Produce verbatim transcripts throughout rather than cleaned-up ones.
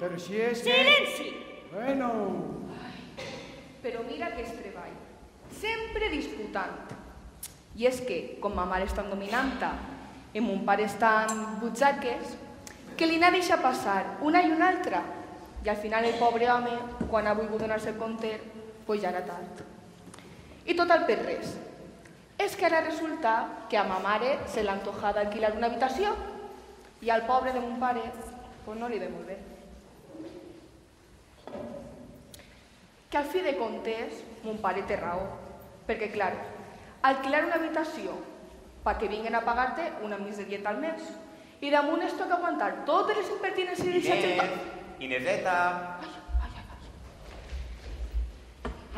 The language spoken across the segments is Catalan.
Però si és que... Silenci! Bueno... Però mira que és treball. Sempre disputant. I és que, com ma mare és tan dominanta i mon pare és tan butxaques, que li n'ha deixat passar una i una altra. I al final el pobre home, quan ha volgut donar-se el compte, pues ja era tard. I total per res. És que ara resulta que a ma mare se l'ha antojat alquilar una habitació i al pobre de mon pare pues no li ve molt bé. Que al fi de comptes mon pare té raó, perquè clar, alquilar una habitació perquè vinguen a pagar-te una miserieta al mes i damunt es toca aguantar totes les impertinències i deixar-te... Ineseta! Ai, ai, ai.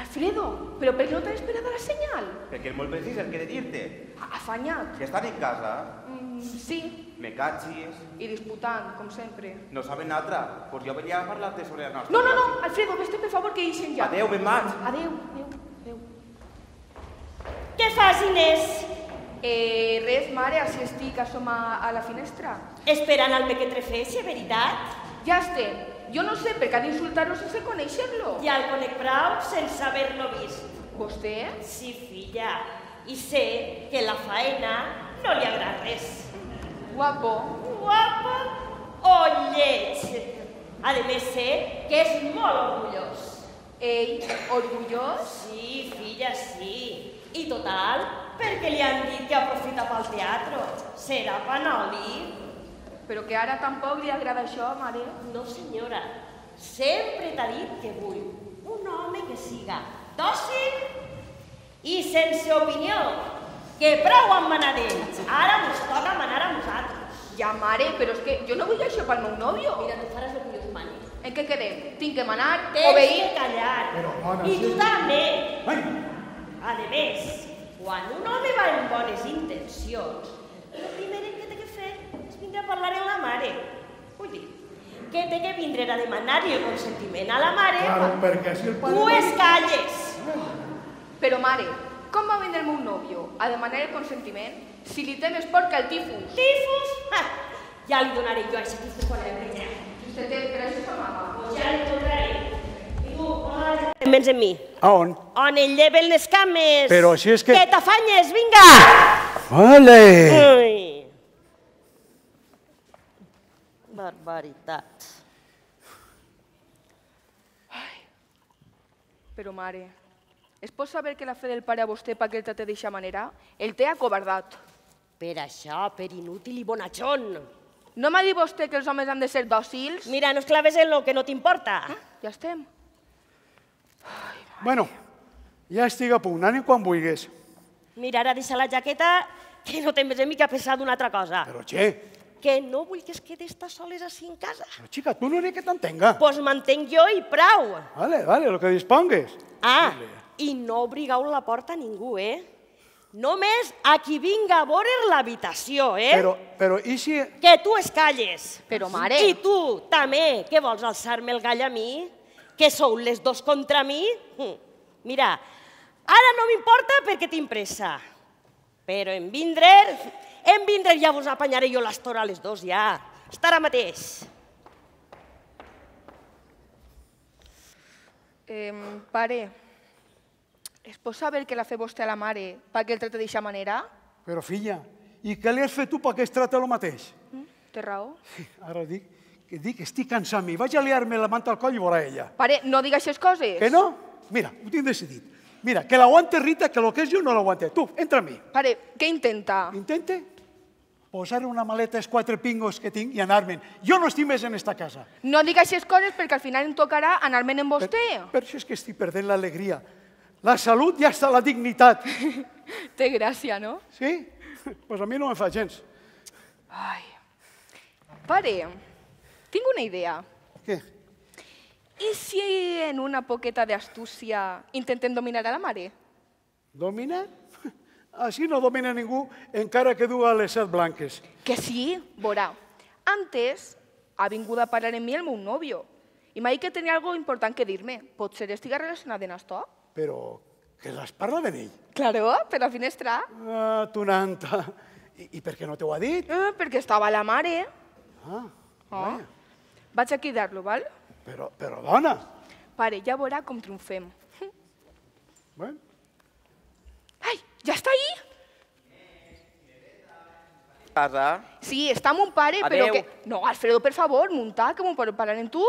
Alfredo, però per què no t'has esperat a la senyal? Perquè és molt precís el que he de dir-te. Afanyat. Ja estan en casa? Mm, sí, Me cachis. i disputant, com sempre. No saben altra. Pues jo venia a parlar-te sobre la nostra... No, no, no, Alfredo, vés-te per favor que ixen ja. Adéu, me'n vaig. Adéu, adéu, adéu. Què fas, Inés? Eh, res, mare, així estic, a som a, a la finestra. Esperant al mequetrefeixi, veritat? Ja estem. Jo no sé per què ha d'insultar-lo sense conèixer-lo. Ja el conec prou sense haver-lo vist. Vostè? Sí, filla, i sé que la faena no li agrada res. Guapo. Guapo o lleig. A més, sé que és molt orgullós. Ell, orgullós? Sí, filla, sí. I total, perquè li han dit que aprofita pel teatre. Serà panoli. Però que ara tampoc li agrada això, mare. No, senyora. Sempre t'ha dit que vull un home que siga dòcil i sense opinió. Que prou amb manar d'ells. Ara ens toca manar a nosaltres. Ja, mare, però és que jo no vull això pel meu nòvio. Mira, tu faràs el que jo us mani. En què quedem? Tinc que manar, Tens obeir... que callar. Però, dona, I tu sí. també. Ai! A més, quan un home va amb bones intencions, el primer que té que fer és vindre a parlar amb la mare. Vull dir, que té que vindre a demanar-li el consentiment a la mare. Claro, perquè si el pare... Tu es calles. Però, mare, com va vindre el meu nòvio a demanar el consentiment si li temes por que el tifus? Tifus? Ha, ja li donaré jo a aquest tifus quan el veig. Vostè té per això sa mama. Pues ja li donaré. I tu, on te'n vens amb mi? A on? On el lleven les cames. Però si és que... Que t'afanyes, vinga! Vale! Ai. Barbaritat. Però, mare, es pot saber que la fe del pare a vostè per què el tracta d'eixa manera? El té acobardat. Per això, per inútil i bonachón. No m'ha dit vostè que els homes han de ser dòcils? Mira, no es claves en lo que no t'importa. Ja estem. Bueno, ja estic a punt, anem quan vulguis. Mira, ara deixa la jaqueta, que no te'n ves en mi que ha pensat una altra cosa. Però, che, Que no vull que es quede estar soles així en casa. però, xica, tu no n'hi que t'entenga. Pues m'entenc jo i prou. Vale, vale, lo que dispongues. Ah, i no obrigueu la porta a ningú, eh? Només a qui vinga a veure l'habitació, eh? Però, però, i si... Que tu es calles. Però, mare... I tu, també, que vols alçar-me el gall a mi? Que sou les dos contra mi? Hm. Mira, ara no m'importa perquè tinc pressa. Però en vindre, en vindre ja vos apanyaré jo l'estora a les dos, ja. Estarà mateix. Eh, pare, es pot saber què l'ha fet vostè a la mare perquè el tracta d'eixa manera? Però, filla, i què li has fet tu perquè es trata el mateix? Mm? Té raó? Ara dic que dic, estic cansat mi, vaig a liar-me la manta al coll i veurà ella. Pare, no diga aquestes coses. Que no? Mira, ho tinc decidit. Mira, que l'aguante Rita, que lo que és jo no l'aguante. Tu, entra a mi. Pare, què intenta? Intente posar una maleta als quatre pingos que tinc i anar-me'n. Jo no estic més en esta casa. No diga aquestes coses perquè al final em tocarà anar-me'n amb vostè. Per això és que estic perdent l'alegria. La salut i hasta la dignitat. Té gràcia, no? Sí? Doncs pues a mi no em fa gens. Ai. Pare, tinc una idea. Què? I si en una poqueta d'astúcia intentem dominar a la mare? Dominar? Així no domina ningú, encara que duga les set blanques. Que sí, veurà. Antes ha vingut a parlar amb mi el meu nòvio i m'ha dit que tenia algo important que dir-me. Potser estiga relacionat amb això? Però que les parla de ell. Claro, per la finestra. Ah, tu nanta. I, I per què no t'ho ha dit? Eh, perquè estava la mare. Ah, Oh. vaja. Vaig a cridar-lo, val? Però, però, dona... Pare, ja veurà com triomfem. Bueno, Ai, ja està ahí? Casa. Sí, està mon pare, però Adeu. que... No, Alfredo, per favor, munta, que mon pare parlar en tu.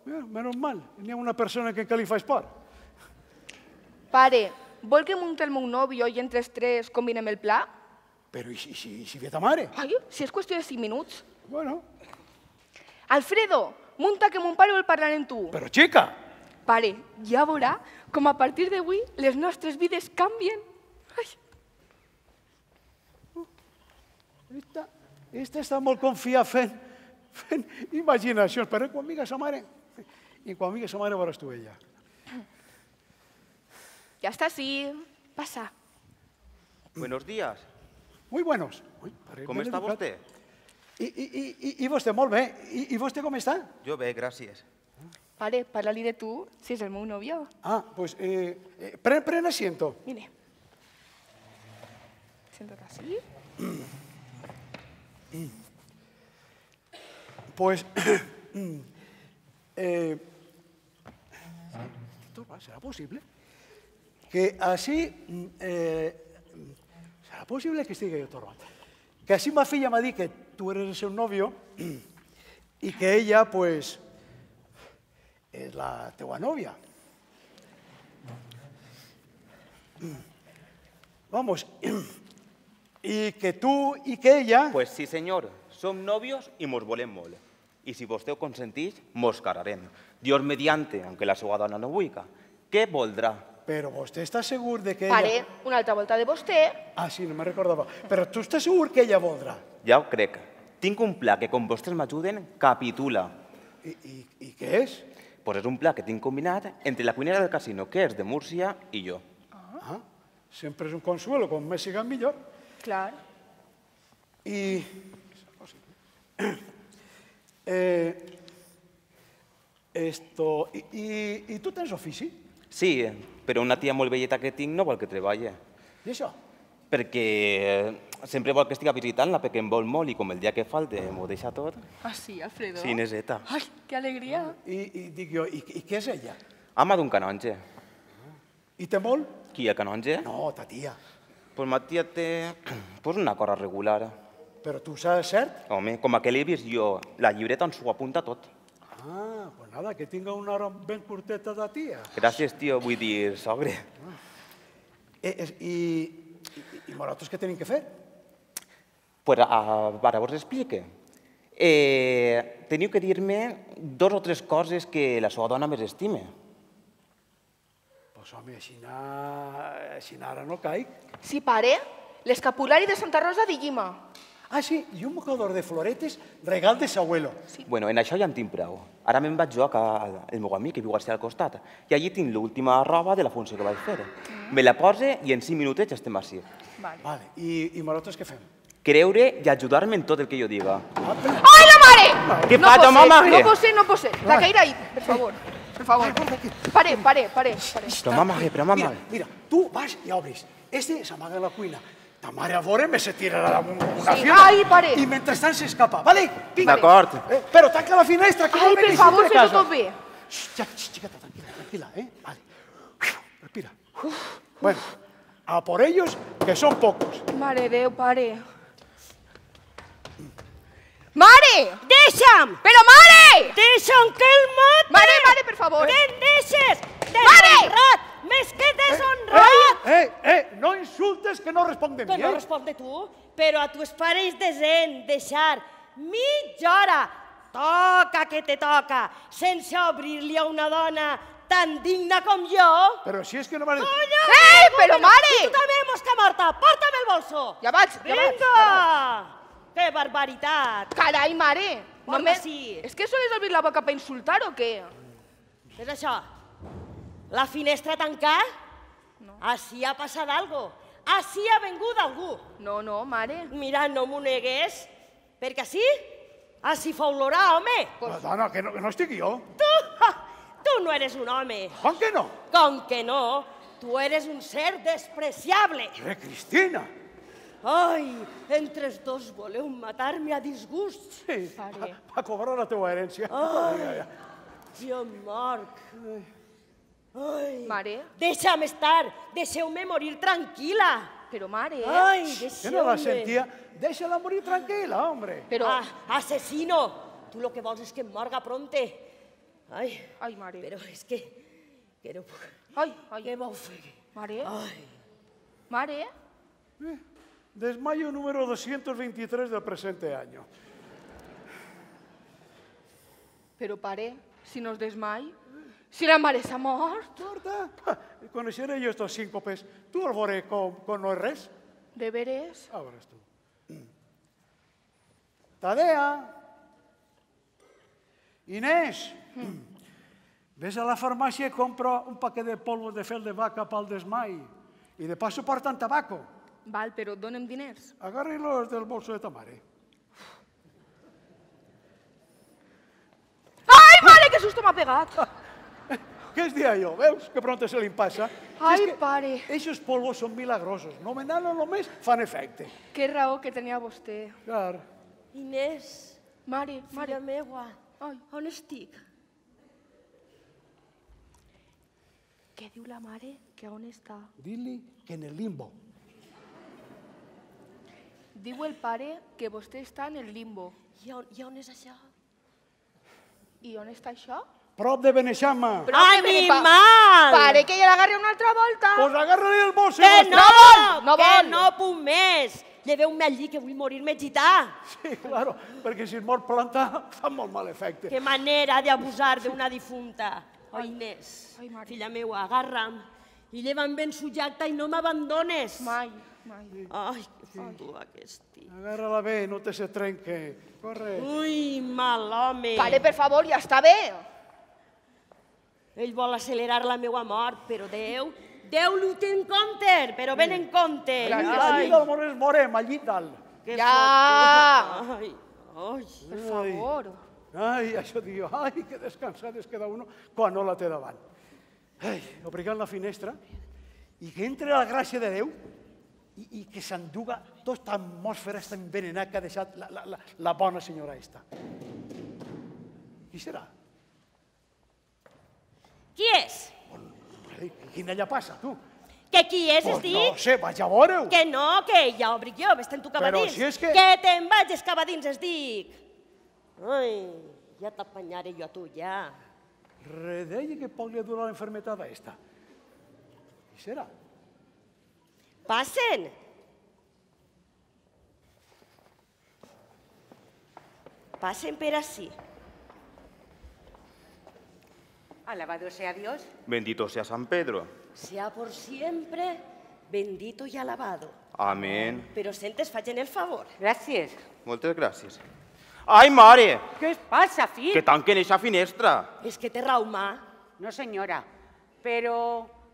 mira, menos mal, n'hi ha una persona que encara li fa esport. Pare, vol que munti el meu nòvio i entre els tres combinem el pla? Però i si, si, si ve ta mare? Ai, si és qüestió de cinc minuts. Bueno, Alfredo, munta que mon pare vol parlar en tu. però xica, Pare, ja veurà com a partir d'avui les nostres vides canvien. Ai. esta, esta està molt confiat fent, fent imaginacions, però quan vinga sa mare, i quan vinga sa mare veuràs tu ella. Ja està, sí. Passa. Buenos días. Muy buenos. Ui, pare, Com ben està educat. vostè? I, i, i, I vostè, molt bé. I, I vostè com està? Jo bé, gràcies. Pare, parla-li de tu, si és el meu nòvio. Ah, pues eh, eh, pren, pren asiento. Mire. Siéntate así. Pues, eh, esto va, ¿será posible? Que así, mm, eh, serà possible que estigui jo torbat. Que així ma filla m'ha dit que tu eres el seu nòvio i que ella, pues, és la teua nòvia. Vamos, i que tu i que ella... Pues sí, senyor. Som nòvios i mos volem molt. I si vostè ho consentix, mos casarem. Dios mediante, aunque la seva dona no vulga. Què voldrà? Però vostè està segur de que Pare, ella... una altra volta de vostè. Ah, sí, no me recordava. Però tu estàs segur que ella voldrà? Ja ho crec. Tinc un pla que, com vostès m'ajuden, capitula. I, i, I què és? Pues és un pla que tinc combinat entre la cuinera del casino, que és de Múrcia, i jo. Ah, sempre és un consuelo, com més siga millor. Clar. I... Eh, esto... I, i, I tu tens ofici? Sí, però una tia molt velleta que tinc no vol que treballe. I això? Perquè sempre vol que estigui visitant-la, perquè em vol molt i com el dia que falte m'ho deixa tot. Ah, sí, Alfredo? Sí, neseta. Ai, que alegria. I, i dic jo, i, i què és ella? Ama d'un canonge. I té molt? Qui, el canonge? No, ta tia. Pues ma tia té pues una cosa regular. Però tu saps cert? Home, com a que l'he vist jo, la llibreta on s'ho apunta tot. Ah, pues nada, que tinga una hora ben curteta de tia. Gràcies, tio, vull dir, sogre. Eh, és, I i, i nosaltres què tenim que fer? Pues a, ara vos explique. Eh, teniu que dir-me dos o tres coses que la seva dona més estime. Pues home, així, na... així ara no caic. Sí, pare, l'escapulari de Santa Rosa de Llima. Ah, sí, i un mocador de floretes, regal de s'abuelo. Bueno, en això ja en tinc prou. Ara me'n vaig jo a el meu amic, que viu al costat, i allí tinc l'última roba de la funció que vaig fer. Me la pose i en cinc minutets estem així. Vale. Vale, i, i nosaltres què fem? Creure i ajudar-me en tot el que jo diga. Ah, però... Ai, la mare! Què no fa, pot mama? ser, no pot ser, no pot ser. La caire ahí, per favor. Per favor. Pare, pare, pare. pare. Però mama, però mama... Mira, mira, tu vas i obris. Este s'amaga a la cuina. Ta mare a veure me se tirarà damunt una Sí, fiona. ai, pare. I mentrestant s'escapa, vale? Vinga. D'acord. Eh, però tanca la finestra, que Ai, no per venguis favor, de fes-ho casa. tot bé. Xxt, ja, xxt, xiqueta, tranquila, tranquila, eh? Vale. Respira. Bueno, a por ellos, que son pocos. Mare Déu, pare. Mare! Deixa'm! Però mare! Deixa'm que el mate! Mare, mare, per favor. Que em deixes! Mare! Deshonrat! Més que deshonrat! Eh, eh, no insultes que no responc de mi, Que no eh? respon de tu, però a tus pares de zen deixar mitja hora, toca que te toca, sense obrir-li a una dona tan digna com jo. Però si és que no m'ha... Conya! Eh, però mare! Tu també, mosca morta, porta'm el bolso! Ja vaig, ja vaig. Vinga! Que barbaritat! Carai, mare. Porta Només... sí. És que sols obrir la boca per insultar o què? És això? La finestra tancada? No. Així ha passat algo. Així ha vengut algú. No, no, mare. Mira, no m'ho negues, perquè així, així fa olorar, home. Però, dona, que no, que no estic jo. Tu, ha, tu no eres un home. Com que no? Com que no? Tu eres un ser despreciable. Eh, Cristina. Ai, entre els dos voleu matar-me a disgust. Sí, Pare. va, va cobrar la teua herència. Ai. Ai, ai, ai. Jo morc. Ai, Mare, deixa'm estar, deixeu-me morir tranquil·la. però mare, Ai, Que deixeu-me. no la sentia? Deixa-la morir tranquil·la, hombre. però... Ah, asesino, tu lo que vols és que em morga pronte. Ai, Ai, mare, però és que... que no puc... ai, ai, Què vau fer? mare, Ai, mare, Desmayo número doscientos veintitrés del presente año. però pare, si no es desmai, si la mare s'ha mort, Torta, coneixeré jo estos síncopes. Tu el veuré com, com no és res. de veres? A veuràs tu. Tadea. Inés. Ves a la farmàcia i compra un paquet de polvos de fel de vaca pel desmai. I de paso porten tabaco. Val, però dona'm diners. Agarri-los del bolso de ta mare. Ai, mare, que susto m'ha pegat! Què es dia jo? Veus que pronto se li passa? Ai, Si és que pare. Eixos polvos són milagrosos. No me nano només fan efecte. Que raó que tenia vostè. Clar. Inés, Mare, filla mare, meua, ai, on estic? què diu la mare? Que on està? Dili que en el limbo. Diu el pare que vostè està en el limbo. I on, i on és això? I on està això? Prop de Beneixama. Però Ai, que mi me pa- mal! Pare, que ja l'agarri una altra volta. Pues agarra-li el bolso. i Que vas- no, vol, no que vol. no puc més. Lleveu-me allí, que vull morir-me gità. Sí, claro, perquè si es mor planta fa molt mal efecte. Que manera d'abusar d'una difunta. Ai, Inés, ai, mare. filla meua, agarra'm i lleva'm ben sujacta i no m'abandones. Mai, mai. Ai, que fotua que estic. Agarra-la bé, no te se trenque. Corre. Ui, mal home. Pare, per favor, ja està bé. Ell vol accelerar la meua mort, però Déu, Déu l'ho té en compte, però ben en compte. Allí, Ai, allí del Morés morem, allí dalt. que Ja. fotua. Ai, ai. Per favor. Ai, això diu, ai, que descansat es queda uno quan no la té davant. Ai, obrigant la finestra i que entre la gràcia de Déu i, i que s'enduga tota atmosfera esta envenenada que ha deixat la, la, la, la bona senyora esta. Qui serà? Qui és? Ai, quina ella passa, tu? Que qui és, Pues es dic? no sé, vaig a veure-ho. Que no, que ja obric jo, vés-te'n tu cap a Però dins. si és que- Que te'n vagis cap a dins, es dic. Ai, ja t'apanyaré jo a tu, ja. Redeia que poc li dura la enfermetada esta. Qui serà? Passen. Passen per ací. Alabado sea Dios. Bendito sea San Pedro. Sea por siempre bendito y alabado. Amén. Però sentes, facin el favor. Gracias. Moltes gràcies. Ai, mare! ¿Qué os pasa, Fi? Que tanquen eixa finestra. És que té raumà. No, señora. Pero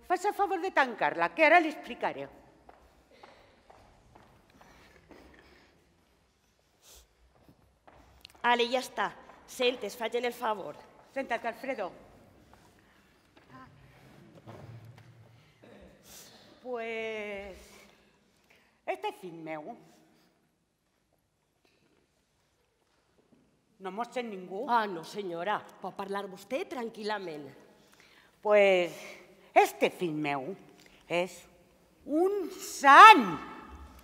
fas a favor de tancarla, que ahora le explicaré. Ale, ja està. Sentes, facin el favor. Séntate, Alfredo. Pues... Este fill meu no mos sent ningú. Ah, no, senyora. Pot parlar vostè tranquil·lament. Pues este fill meu és un sant.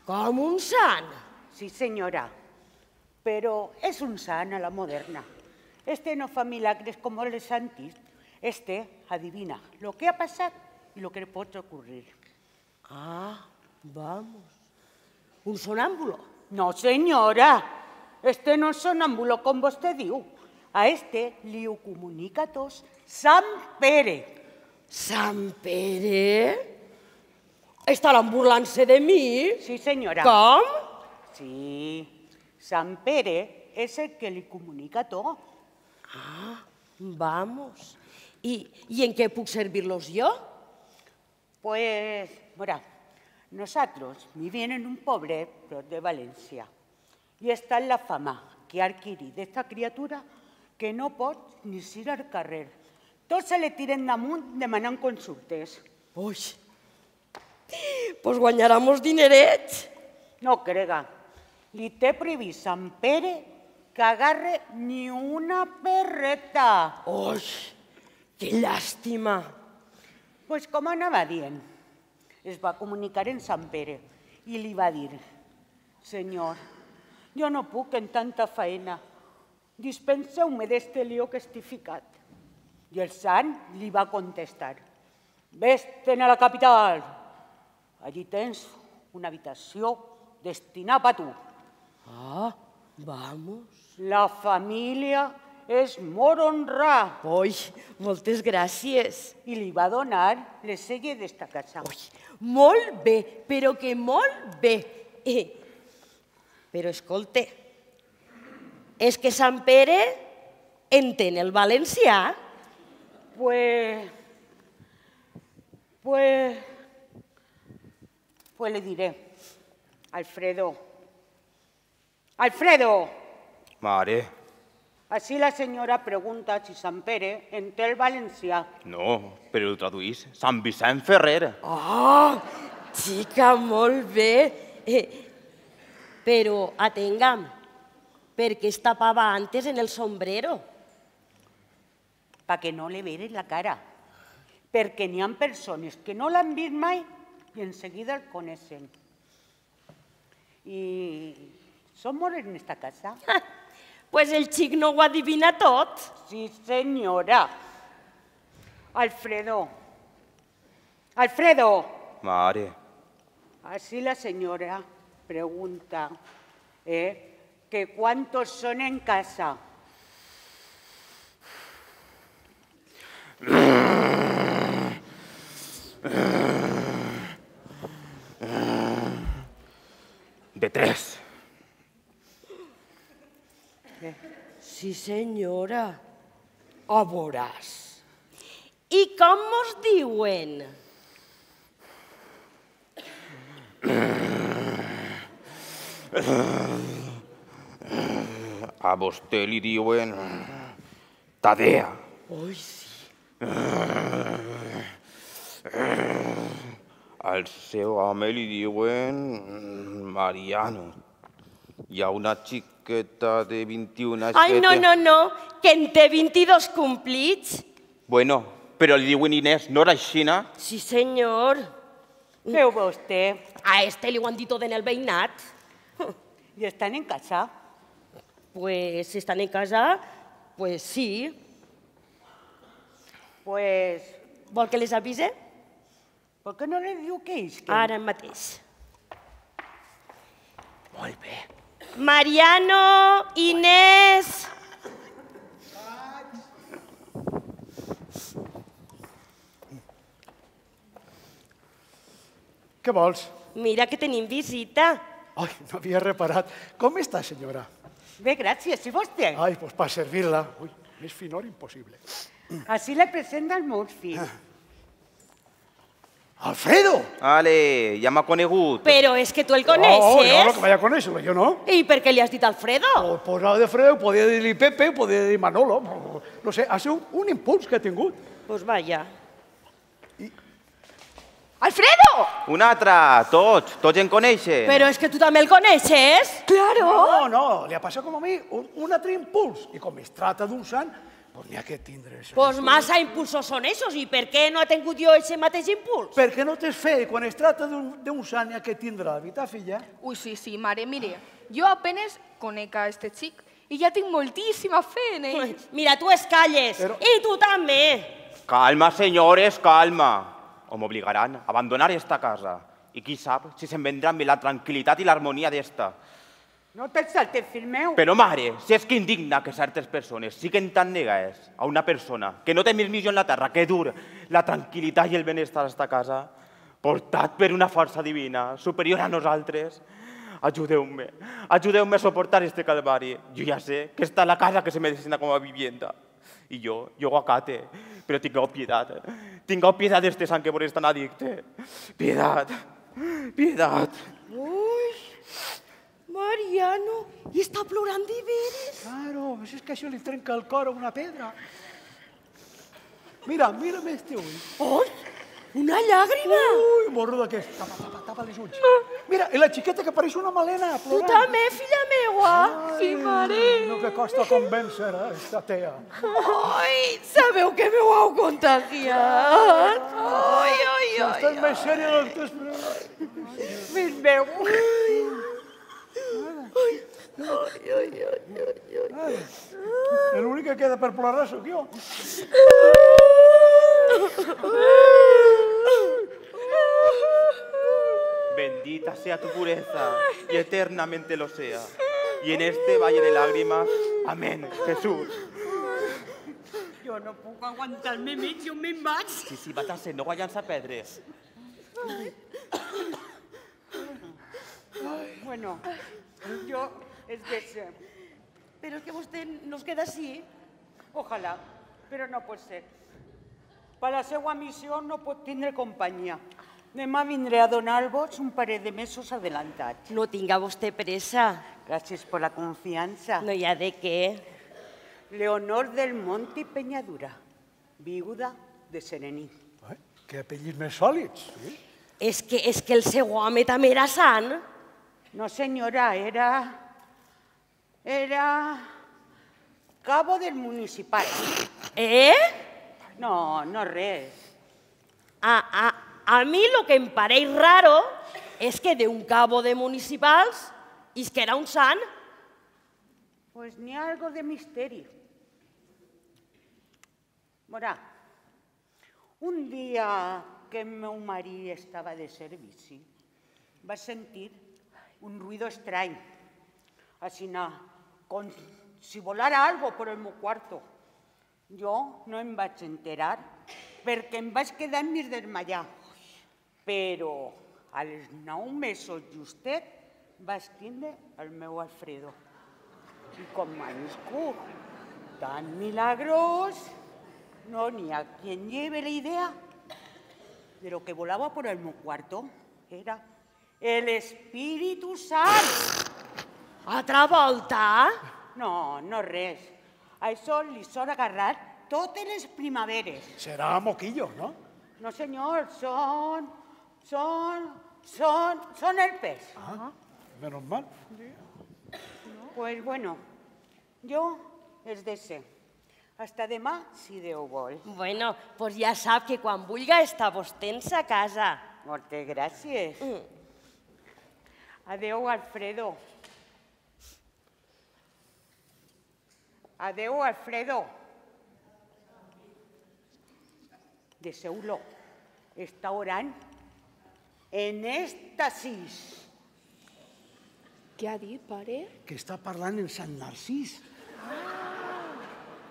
Com un sant. Sí, señora, pero es un sant a la moderna. Este no fa milagres como los santis. Este adivina lo que ha pasado y lo que le puede ocurrir. Ah, vamos. Un sonámbulo. No, señora, este no es sonámbulo com vostè diu. A este li ho comunica tos Sant Pere. Sant Pere? Estaran burlant-se de mi? Sí, senyora. Com? Sí, Sant Pere és el que li comunica tot. Vamos. I, i en què puc servir-los jo? Pues, mira, nosotros vivimos en un pueblo de Valencia y está en la fama que ha adquirido esta criatura que no pot ni ir al carrer. Tots se le tiren damunt demanant consultes. Ui, pues guanyarà molts dinerets. No crega, li té previst Sant Pere que agarre ni una perreta. Ui, que llàstima. Pues com anava dient, es va comunicar en Sant Pere i li va dir: «Senyor, jo no puc en tanta faena. Dispenseu-me d'este lío que estic ficat». I el sant li va contestar: «Ves-te'n a la capital. Allí tens una habitació destinada per tu. Ah, vamos. La família és molt honrada». Ui, moltes gràcies. I li va donar les selles d'esta casa. Ui, molt bé, però que molt bé. Eh, però escolte, és que Sant Pere entén el valencià? Pues, pues, pues le diré, Alfredo, Alfredo, Mare, així la senyora pregunta si Sant Pere entén el valencià. no, però ho traduís. Sant Vicent Ferrer. Ah, xica, molt bé. Eh, però atenga'm, per què es tapava antes en el sombrero? Perquè no li veres la cara. Perquè n'hi ha persones que no l'han vist mai i en seguida el coneixen. I som molts en esta casa. Pues el xic no ho adivina tot. Sí, senyora. Alfredo. Alfredo. Mare, Así la señora pregunta eh, que cuántos son en casa. de tres. Sí, senyora. A veuràs. I com mos diuen? A vostè li diuen Tadea. Ui, sí. Al seu home li diuen Mariano. Hi ha una xiqueta de vint-i-un anys Ai, que no, té- no, no, que en té vint-i-dos complits. Bueno, però li diuen Inés, no era aixina? Sí, senyor. Veu vostè, A este li ho han dit tot en el veïnat. i estan en casa. Pues si estan en casa, pues sí. Pues, Vol que les avise? per què no li diu que isquen? Ara mateix. Molt bé. Mariano, Inés... Què vols? Mira que tenim visita. Ai, no havia reparat. Com està, senyora? Bé, gràcies, i vostè? Ai, doncs per servir-la. Ui, més finor impossible. Així le presenta els meus fills. Alfredo! Ale, ja m'ha conegut. Però és que tu el Oh, no, no, coneixes. que vaya a conèixer-lo, jo no. I per què li has dit Alfredo? O posava de Fredo, podia dir-li Pepe, podia dir Manolo. No, no sé, ha sigut un impuls que ha tingut. Pues vaya. ¡Alfredo! Un altre, tots, tots en coneixen. Però és que tu també el coneixes? ¡Claro! No, no, li ha passat com a mi un, un altre impuls. I com es tracta d'un sant, doncs n'hi ha que tindre això. Pues massa impulsos són esos. I per què no he tingut jo aquest mateix impuls? Perquè no t'és fe, i quan es tracta d'un d'un sant n'hi ha que tindre la veritat, filla. Uy, sí, sí, mare, mire, yo apenas conec a este chic y ya tengo moltíssima fe en ell. Mira, tu es calles. Però- I tu també. Calma, senyores, calma. O m'obligaran a abandonar esta casa. I qui sap si se'n vendrà amb la tranquil·litat i l'harmonia d'esta. No te'l saltes, fill meu. Però, mare, si és que indigna que certes persones siguen tan negades a una persona que no té més missió en la terra que dur la tranquil·litat i el benestar a esta casa, portat per una força divina, superior a nosaltres, ajudeu-me, ajudeu-me a soportar este calvari. Jo ja sé que està la casa que se me destina com a vivienda. I jo, jo ho acate, però tingueu pietat. Tingueu pietat d'este sant que vos és tan addicte. Pietat, pietat. Ui, Mariano, i està plorant de veres. Claro, si és que això li trenca el cor a una pedra. Mira, mira'm este ull. Ui, Una llàgrima! Ui, morro de què? Tapa, tapa, tapa els ulls. Mira, i la xiqueta que pareix una melena, Tu plorant. també, filla meua! Sí, mare. No que costa convèncer, eh, esta tea. Ai, sabeu que m'ho heu contagiat? Ai, ai, ai. Estàs més sèria del que esperava. Fill meu. L'únic que queda per plorar sóc jo. Bendita sea tu pureza y eternamente lo sea. Y en este valle de lágrimas, amén, Jesús. Jo no puc aguantar-me més, jo me'n vaig. Sí, sí, vaig a ser, no guanyant a perdre. Bueno, jo és de ser. Però és que vostè no es queda així. Ojalà, però no pot ser. Per la seva missió no pot tindre companyia. Demà vindré a donar-vos un parell de mesos adelantats. No tinga vostè pressa. Gràcies per la confiança. No hi ha de què. Leonor del Monte i Peñadura, viuda de Serení. Ai, que apellids més sòlids. Sí? És que, és que el seu home també era sant. No, senyora, era... Era... cabo del municipal. Eh? No, no res. A, a, a mi lo que em pareix raro és que d'un cabo de municipals és que era un sant. Pues n'hi ha algo de misteri. Morà, un dia que el meu marit estava de servici, va sentir un ruido estrany, així com si volara algo por el meu quarto. Jo no em vaig enterar perquè em vaig quedar en mig desmallar. Però als nou mesos justet vaig tindre el meu Alfredo. I com m'ha nascut tan milagrós, no n'hi ha quien lleve la idea de lo que volava por el meu cuarto. Era el Espíritu Sant. Altra volta? No, no res. Això li sona agarrar totes les primaveres. Serà moquillo, no? No, senyor, són... són... són... són herpes. Ah, menos mal. Pues bueno, jo és de ser. Hasta demà, si Déu vol. Bueno, pues ja sap que quan vulga està vostè en sa casa. Moltes gràcies. Adéu, Alfredo. Adéu, Alfredo. Deseu-lo. Està orant en èxtasis. Què ha dit, pare? Que està parlant en Sant Narcís.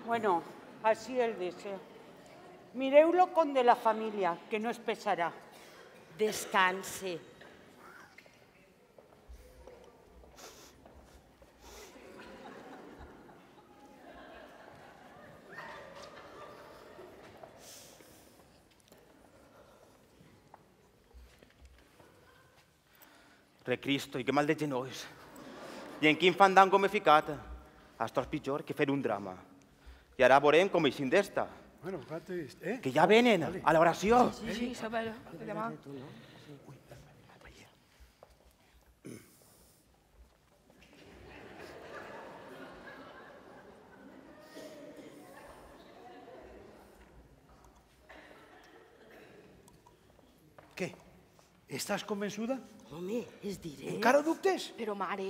Bueno, així el de ser. Mireu-lo com de la família, que no es pesarà. Descanse. Recristo, i que mal de genolls. I en quin fandango m'he ficat? Això és pitjor que fer un drama. I ara veurem com eixim d'esta. Bueno, fíjate, eh? Que ja venen a l'oració. Sí, sí, Isabel, demà. Què? Estàs convençuda? Home, es diré... Encara dubtes? Però, mare...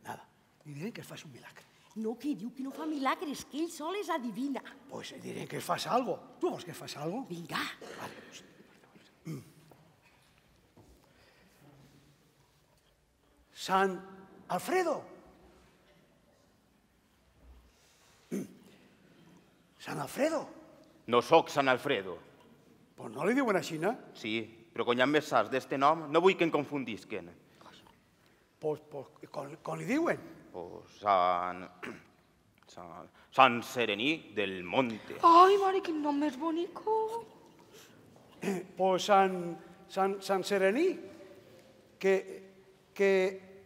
Nada. Li diré que fas un milagre. No, que diu que no fa milagres, que ell sol és adivina. Pues diré que fas algo. Tu vols que fas algo? Vinga. Vale. Mm. Sant Alfredo. Mm. Sant Alfredo. No sóc Sant Alfredo. Pues no li diuen així, no? Sí, però quan hi ha més saps d'este nom, no vull que em confundisquen. Pues, pues com, com li diuen? Pues Sant... Sant... Sant Serení del Monte. Ai, mare, quin nom més bonico. Pues Sant, Sant, Sant Serení, que, que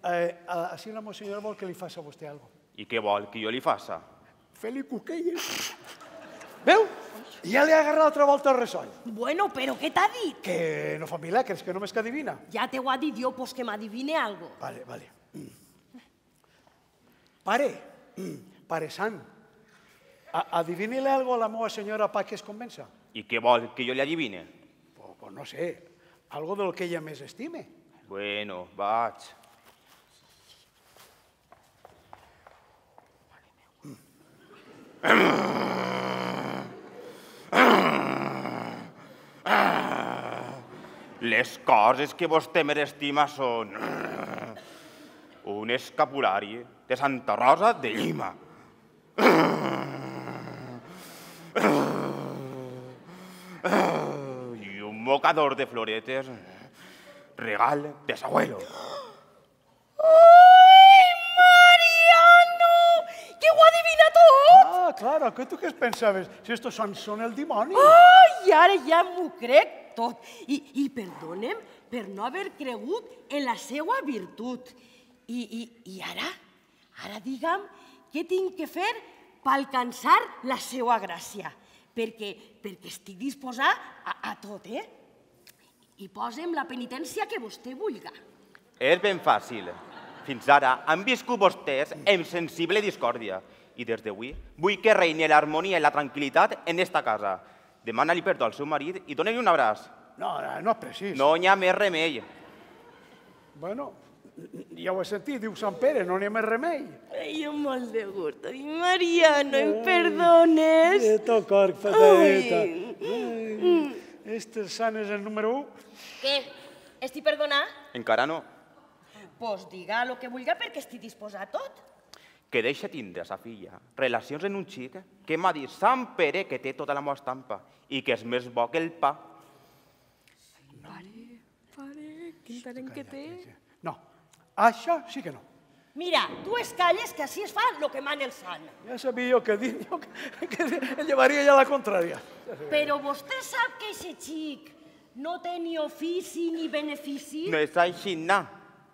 eh, així la monsenyora vol que li faci a vostè algo. I què vol que jo li faça? Fer-li cuquelles. Veu? Ja li ha agarrat altra volta el ressoll. Bueno, però què t'ha dit? Que no fa milagres, que només que adivina. Ja te ho ha dit jo, pues que m'adivine algo. Vale, vale. Pare, pare sant, adivini-li algo a la meva senyora pa que es convença. I què vol, que jo li adivine? Pues, pues no sé, algo del que ella més estime. Bueno, vaig. Les coses que vostè m'estima són un escapulari de Santa Rosa de Llima, i un mocador de floretes, regal de s'abuelo. Ai, Mariano! Que ho adivina tot! Ah, claro, que tu què es pensaves? Si estos són, són el dimoni. Ai, ara ja m'ho crec tot. I, i perdonem per no haver cregut en la seva virtut. I, i, i ara, ara digue'm què tinc que fer per alcançar la seva gràcia. Perquè, perquè estic disposat a, a tot, eh? I posem la penitència que vostè vulga. És ben fàcil. Fins ara han viscut vostès en sensible discòrdia. I des d'avui vull que reini l'harmonia i la tranquil·litat en esta casa. Demana-li perdó al seu marit i dona-li un abraç. No, no és precís. No hi ha més remei. Bueno, ja ho he sentit, diu Sant Pere, no n'hi ha més remei. Ai, jo molt de gust. Ai, Mariano, em perdones? Esto, cor, patadeta. Este sant és el número u. Què? Estic perdonat? Encara no. Pues diga el que vulga perquè estic disposat a tot. Que deixa tindre sa filla relacions en un xic que m'ha dit Sant Pere que té tota la meva estampa i que és més bo que el pa. Pare, pare, quin talent que té. No, això sí que no. Mira, tu es calles que així es fa el que mana el sant. Ja sabia jo que dir, jo que, que el llevaria ja la contrària. Però vostè sap que aquest xic no té ni ofici ni benefici? No és així, no.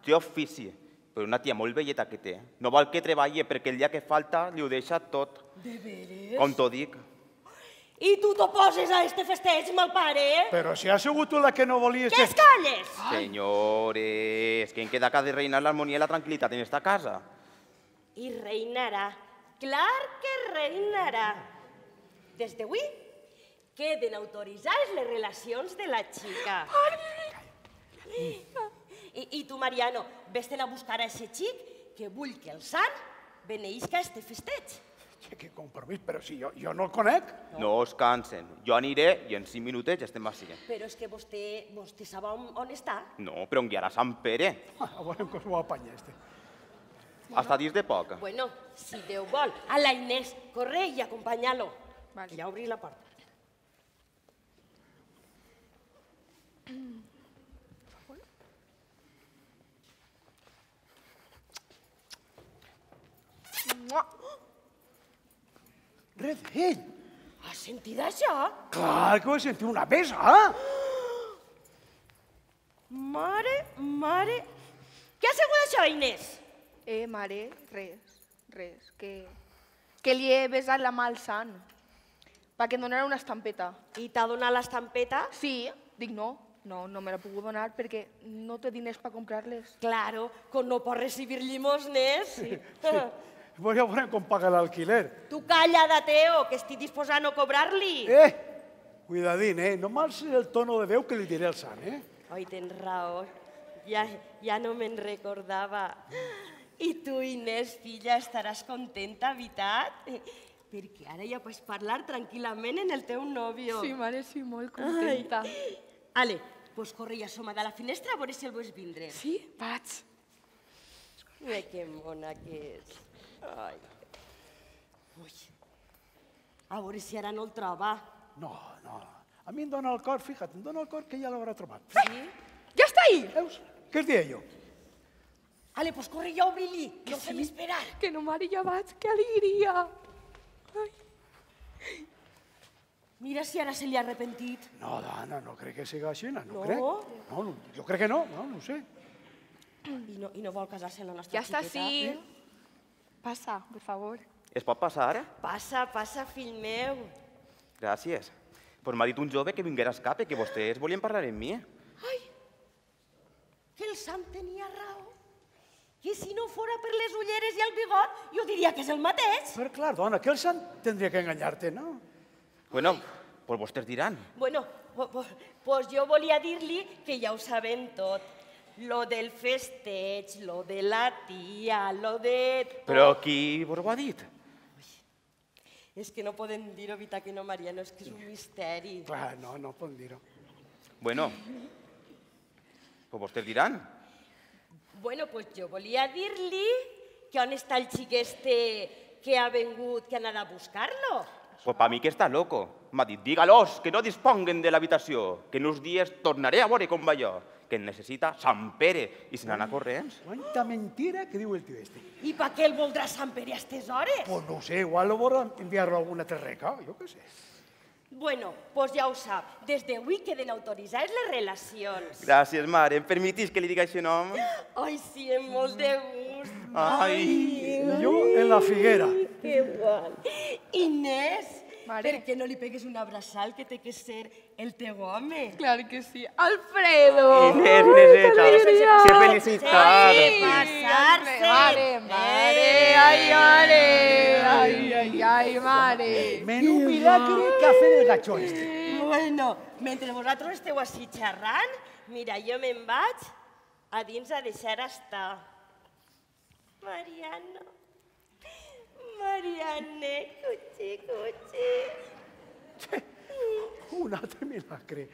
Té ofici, però una tia molt velleta que té. No vol que treballi perquè el dia que falta li ho deixa tot. De veres? Com t'ho dic. I tu t'oposes a este festeig, mal pare? Però si ha sigut tu la que no volies... Que es calles? Senyores, que en queda que ha de reinar l'harmonia i la tranquil·litat en esta casa. I reinarà. Clar que reinarà. Des d'avui queden autoritzades les relacions de la xica. I, I tu, Mariano, vés-te'n a buscar a aquest xic que vull que el sant beneïsca a este festeig. Que compromís, però si jo, jo no el conec. No us cansen. Jo aniré i en cinc minutets ja estem així. Però és que vostè, vostè sap on, on està? No, però on guiarà Sant Pere. Ah, a veure com s'ho apanya, este. Hasta dins de poc. Bueno, si Déu vol. A la Inés, corre i acompanya-lo. Vale. Ja obri la porta. Res d'ell. Has sentit això? Clar que ho he sentit una vez, ah? Mare, mare... Què ha sigut això, Inés? Eh, mare, res, res, que, que li he besat la mà al sant, perquè em donara una estampeta. I t'ha donat l'estampeta? Sí, dic no, no, no me la puc donar perquè no té diners per comprar-les. Claro, com no pot recibir llimosnes. Sí. Pues ja veurem com paga l'alquiler. Tu calla, Dateo, que estic disposat a no cobrar-li. Eh, cuidadín, eh? No mal sé el tono de veu que li diré al sant, eh? Oi, tens raó. Ja, ja no me'n recordava. I tu, Inés, filla, estaràs contenta, veritat? Perquè ara ja pots parlar tranquil·lament en el teu nòvio. Sí, mare, sí, molt contenta. Ai. Ale, pues corre i assoma de la finestra a veure si el veus vindre. Sí, vaig. Mira que mona que és. Ai. Ui. A veure si ara no el troba. No, no. A mi em dóna el cor, fíjate, em dóna el cor que ja l'haurà trobat. Sí? Ja està ahí! Veus? Què es deia jo? Ale, pues corre i obri-li. No ho fem esperar. Que no, mare, ja vaig, que alegria. Ai. Mira si ara se li ha arrepentit. No, dona, no crec que sigui així, no, No? crec. No, no, jo crec que no, no, no ho sé. I no, i no vol casar-se amb la nostra Ja està, xiqueta. sí. Passa, per favor. Es pot passar? Passa, passa, fill meu. Gràcies. Pues m'ha dit un jove que vinguera a escape, que vostès volien parlar amb mi. Ai, que el sant tenia raó. Que si no fora per les ulleres i el bigot, jo diria que és el mateix. Però clar, dona, que el sant tindria que enganyar-te, no? Bueno, pues vostès diran. Bueno, pues jo volia dir-li que ja ho sabem tot. Lo del festeig, lo de la tia, lo de... Però qui vos ho ha dit? És que no podem dir-ho, veritat que no, Mariano, és que és un misteri. Clar, no, no podem dir-ho. Bueno, pues vostès diran. Bueno, pues jo volia dir-li que on està el xic este que ha vengut, que ha anat a buscar-lo. Pues pa mi que està loco. M'ha dit, dígalos que no disponguen de l'habitació, que en uns dies tornaré a veure com va allò, que en necessita Sant Pere, i se n'anà corrents. Quanta mentira que diu el tio este. I per què el voldrà Sant Pere a aquestes hores? Pues no ho sé, igual lo vol enviar-lo a alguna terreca, jo què sé. Bueno, pues ja ho sap. Des d'avui queden autoritzades les relacions. Gràcies, mare. Em permetís que li diga aquest nom? Ai, sí, amb molt de gust. Ai. I jo en la figuera. Que guai. Inés, Mare. per què no li pegues un abraçal que té que ser el teu home? Claro que sí. ¡Alfredo! Inés, Inéseta, se ha felicitado. Sí, pasarse. Mare, mare, ai, mare, ai, ai, ai, mare. Menú milagre café del gatxó este. Bueno, mentre vosaltres esteu així xerrant, mira, jo me'n vaig a dins a deixar estar. Mariano, Mariane, cuchi, cuchi. Un altre milagre.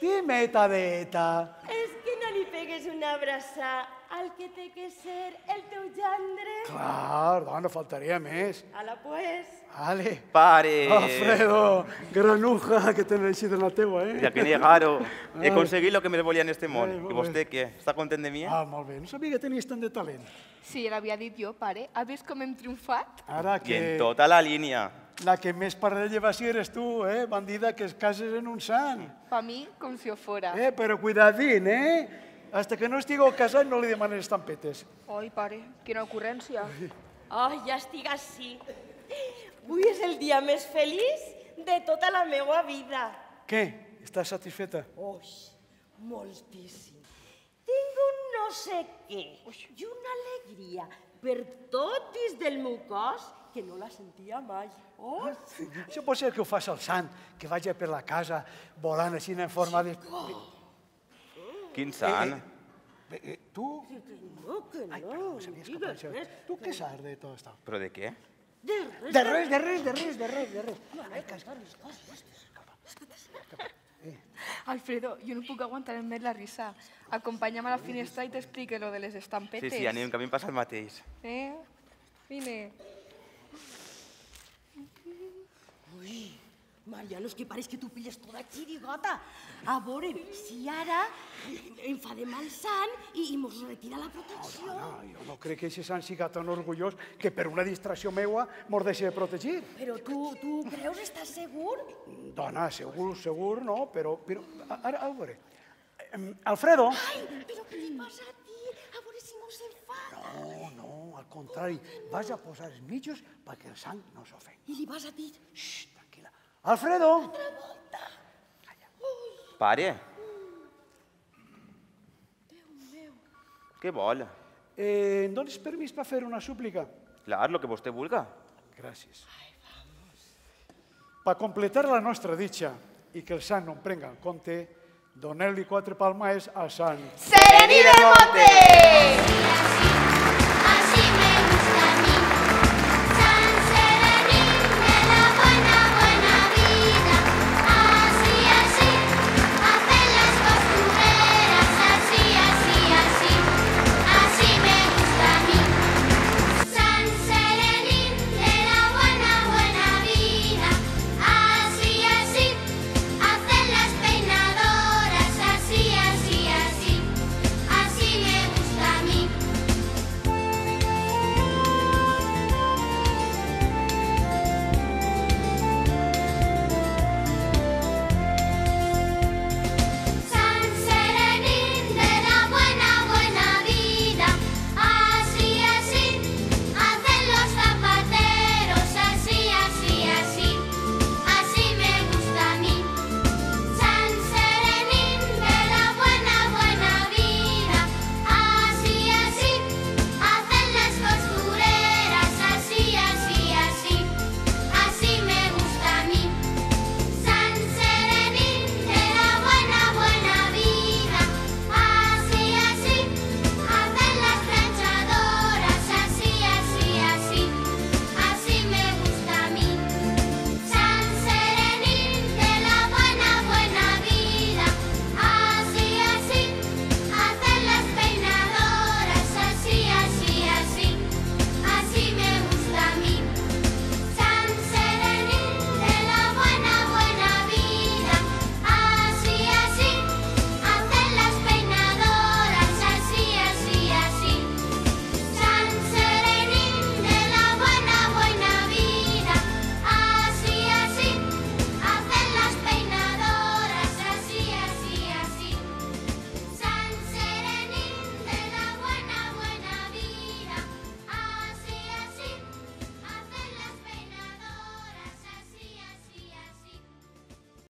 Dime, Tadeta. És que no li pegues una abraçada al que té que ser el teu gendre? Clar, dona, faltaria més. Ala, pues. Vale. Pare. Alfredo, granuja que tens així de la teua, eh? Ja que negaro. He aconseguit el que me volia en este món. Ai, molt I vostè què? Està content de mi? Ah, molt bé. No sabia que tenies tant de talent. Sí, l'havia dit jo, pare. Has vist com hem triomfat? Ara I que en tota la línia. la que més parella va ser eres tu, eh? Bandida que es cases en un sant. Pa mi, com si ho fora. Eh, però cuidadín, eh? Hasta que no estigueu casat no li demanes estampetes. Ai, pare, quina ocurrència. Ai, ja estic així. Avui és el dia més feliç de tota la meva vida. Què? Estàs satisfeta? Ui, moltíssim. Tinc un no sé què i una alegria per tot dins del meu cos que no la sentia mai. Oh, Això pot ser que ho fas al sant, que vagi per la casa volant així en forma de... Quin sant. Eh, eh, tu... no, que Ai, no, perdó, se m'havia digues escapat això. res. Tu què saps de tot això? Però de què? De res, De res, de res, de res, de res, de res. Ai, que Alfredo, jo no puc aguantar més la risa. Acompanya'm a la finestra i t'explique lo de les estampetes. Sí, sí, anem, que a mi em passa el mateix. Eh? Vine. Ui, Mariano, és que pareix que tu pilles tota xirigota. A veure, si ara enfadem al sant i, i mos retira la protecció. No, jo no crec que aquest sant siga tan orgullós que per una distracció meua mos deixi de protegir. Però tu, tu creus, estàs segur? Dona, segur, segur, no, però... però ara, a veure... Em, Alfredo... Ai, però què li passa a ti? A veure si mos enfada. No, no, al contrari, vas a posar els mitjos perquè el sang no s'ofengui. I li vas a dir... Xxt, tranquil·la. Alfredo! Pare. Què vol? Eh, em dones permís per fer una súplica? Clar, lo que vostè vulga. Gràcies. Per completar la nostra ditxa i que el sant no em prenga en compte, doneu-li quatre palmades al sant. Serení del Monte!